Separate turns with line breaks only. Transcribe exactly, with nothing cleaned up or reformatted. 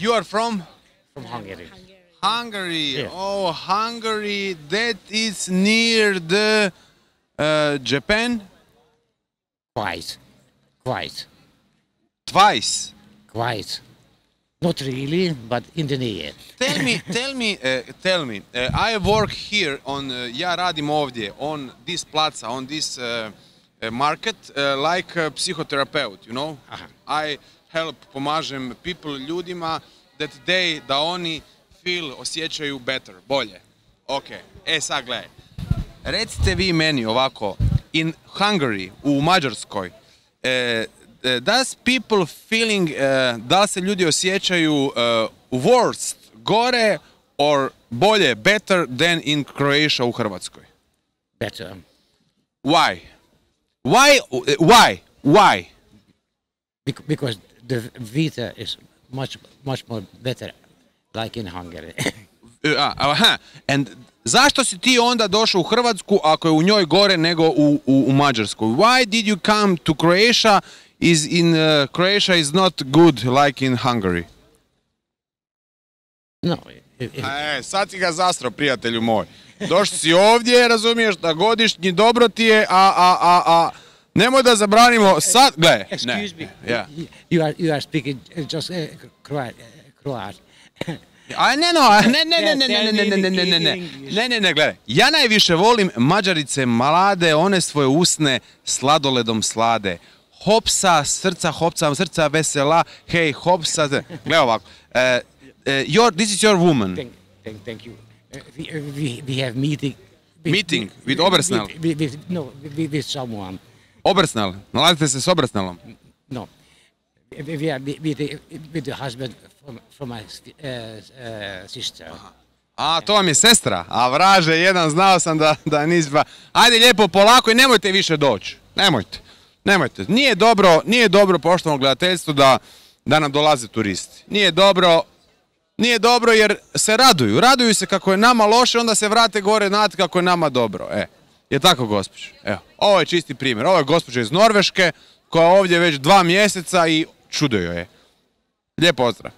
You are from?
From Hungary.
Hungary.
Yeah.
Oh, Hungary. That is near the uh, Japan?
Quite. Quite.
Twice.
Quite. Not really, but in the near.
Tell me, tell me, uh, tell me. Uh, I work here on, uh, ja radim ovdje, on this plaza, on this uh, uh, market, uh, like a psychoterapeut, you know?
Aha.
I help, pomažem people, ljudima, that they, da oni feel, osjećaju better, bolje. Ok, e sad gledaj. Recite vi meni ovako, in Hungary, u Mađarskoj, uh, Uh, does people feeling, uh, da li se ljudi osjećaju uh, worst, gore, or bolje, better than in Croatia u Hrvatskoj?
Better.
Why? Why? Uh, why? Why?
Bec because the vita is much, much more better, like in Hungary.
uh, aha. And zašto si ti onda došao u Hrvatsku ako je u njoj gore nego u, u, u Mađarskoj? Why did you come to Croatia? Is in uh, Croatia is not good like in Hungary.
No. If, if,
E, sad si ga zastro, prijatelju moj. Došli si ovdje, razumiješ, da godišnji dobro ti je, a, a, a, a, nemoj da zabranimo sad, gle.
excuse me,
Yeah.
you are, you are speaking just uh, Croat. Croat.
A ne, no, ne, ne, ne, ne, ne, ne, ne, ne, ne, ne, ne, ne, ne, ne, gledaj. Ja najviše volim Mađarice mlade, one svoje usne sladoledom slade. Hopsa, srca, hopsa, srca vesela, hej, hopsa, gledaj ovako. Uh, uh, your, this is your woman.
Thank, thank, thank you. Uh, we, uh, we, we have meeting. With,
Meeting with Obersnel?
With, with, with, no, with, with someone.
Obersnel, nalazite se s Obersnelom?
No. We, we are with the, with the husband from, from my uh, uh, sister.
A, to vam je sestra? A vraže, jedan, znao sam da, da nisi ba... Ajde lijepo, polako i nemojte više doći. Nemojte. Nemojte. Nije dobro, nije dobro poštovano gledateljstvo da, da nam dolaze turisti. Nije dobro, nije dobro jer se raduju. Raduju se kako je nama loše, onda se vrate gore znate kako je nama dobro. E, je tako gospođo? Evo, ovo je čisti primjer. Ovo je gospođa iz Norveške koja je ovdje već dva mjeseca i čudo joj je. Lijep pozdrav.